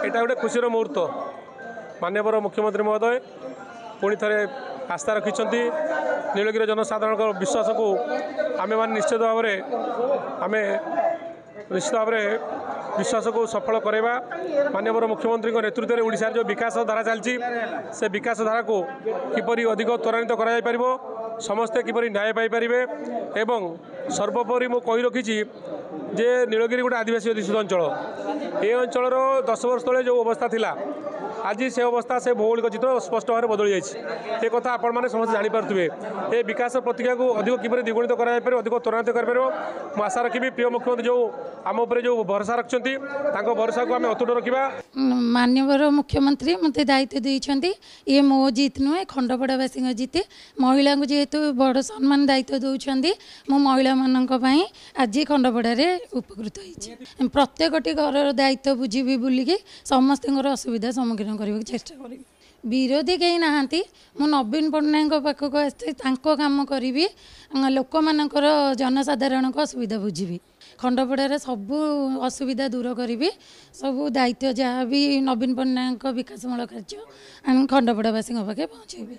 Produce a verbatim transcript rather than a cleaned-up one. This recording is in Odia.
ଏଇଟା ଗୋଟେ ଖୁସିର ମୁହୂର୍ତ୍ତ। ମାନ୍ୟବର ମୁଖ୍ୟମନ୍ତ୍ରୀ ମହୋଦୟ ପୁଣି ଥରେ ଆସ୍ଥା ରଖିଛନ୍ତି। ନୀଳଗିରି ଜନସାଧାରଣଙ୍କ ବିଶ୍ୱାସକୁ ଆମେମାନେ ନିଶ୍ଚିତ ଭାବରେ, ଆମେ ନିଶ୍ଚିତ ଭାବରେ ବିଶ୍ୱାସକୁ ସଫଳ କରାଇବା। ମାନ୍ୟବର ମୁଖ୍ୟମନ୍ତ୍ରୀଙ୍କ ନେତୃତ୍ୱରେ ଓଡ଼ିଶାର ଯେଉଁ ବିକାଶ ଧାରା ଚାଲିଛି, ସେ ବିକାଶ ଧାରାକୁ କିପରି ଅଧିକ ତ୍ୱରାନ୍ୱିତ କରାଯାଇପାରିବ, ସମସ୍ତେ କିପରି ନ୍ୟାୟ ପାଇପାରିବେ, ଏବଂ ସର୍ବୋପରି ମୁଁ କହି ରଖିଛି ଯେ ନୀଳଗିରି ଗୋଟେ ଆଦିବାସୀ ଅଧ୍ୟୁଷିତ ଅଞ୍ଚଳ। ଏ ଅଞ୍ଚଳର ଦଶ ବର୍ଷ ତଳେ ଯେଉଁ ଅବସ୍ଥା ଥିଲା, ଆଜି ସେ ଅବସ୍ଥା, ସେ ଭୌଗୋଳିକ ଚିତ୍ର ସ୍ପଷ୍ଟ ଭାବରେ ବଦଳି ଯାଇଛି। ଏ କଥା ଆପଣମାନେ ସମସ୍ତେ ଜାଣିପାରୁଥିବେ। ଏ ବିକାଶ ପ୍ରତିକ୍ରିୟାକୁ ଅଧିକ କିପରି ଦ୍ୱିଗୁଣିତ କରାଯାଇପାରିବ, ଅଧିକ ତ୍ୱରାନ୍ୱିତ କରିପାରିବ, ମୁଁ ଆଶା ରଖିବି ପ୍ରିୟ ମୁଖ୍ୟମନ୍ତ୍ରୀ ଯେଉଁ ଆମ ଉପରେ ଯେଉଁ ଭରସା ରଖିଛନ୍ତି, ତାଙ୍କ ଭରସାକୁ ଆମେ ଅତୁଟ ରଖିବା। ମାନ୍ୟବର ମୁଖ୍ୟମନ୍ତ୍ରୀ ମୋତେ ଦାୟିତ୍ୱ ଦେଇଛନ୍ତି। ଇଏ ମୋ ଜିତ୍ ନୁହେଁ, ଖଣ୍ଡପଡ଼ାବାସୀଙ୍କ ଜିତ୍। ମହିଳାଙ୍କୁ ଯେହେତୁ ବଡ଼ ସମ୍ମାନ ଦାୟିତ୍ୱ ଦେଉଛନ୍ତି, ମୁଁ ମହିଳାମାନଙ୍କ ପାଇଁ ଆଜି ଖଣ୍ଡପଡ଼ାରେ ଉପକୃତ ହେଇଛି। ପ୍ରତ୍ୟେକଟି ଘରର ଦାୟିତ୍ୱ ବୁଝିବି, ବୁଲିକି ସମସ୍ତଙ୍କର ଅସୁବିଧା ସମ୍ମୁଖୀନ କରିବାକୁ ଚେଷ୍ଟା କରିବି। ବିରୋଧୀ କେହି ନାହାନ୍ତି। ମୁଁ ନବୀନ ପଟ୍ଟନାୟକଙ୍କ ପାଖକୁ ଆସିଛି, ତାଙ୍କ କାମ କରିବି, ଲୋକମାନଙ୍କର, ଜନସାଧାରଣଙ୍କ ଅସୁବିଧା ବୁଝିବି, ଖଣ୍ଡପଡ଼ାରେ ସବୁ ଅସୁବିଧା ଦୂର କରିବି। ସବୁ ଦାୟିତ୍ୱ ଯାହା ବି ନବୀନ ପଟ୍ଟନାୟକଙ୍କ ବିକାଶମୂଳକ କାର୍ଯ୍ୟ ଆମେ ଖଣ୍ଡପଡ଼ାବାସୀଙ୍କ ପାଖେ ପହଞ୍ଚାଇବି।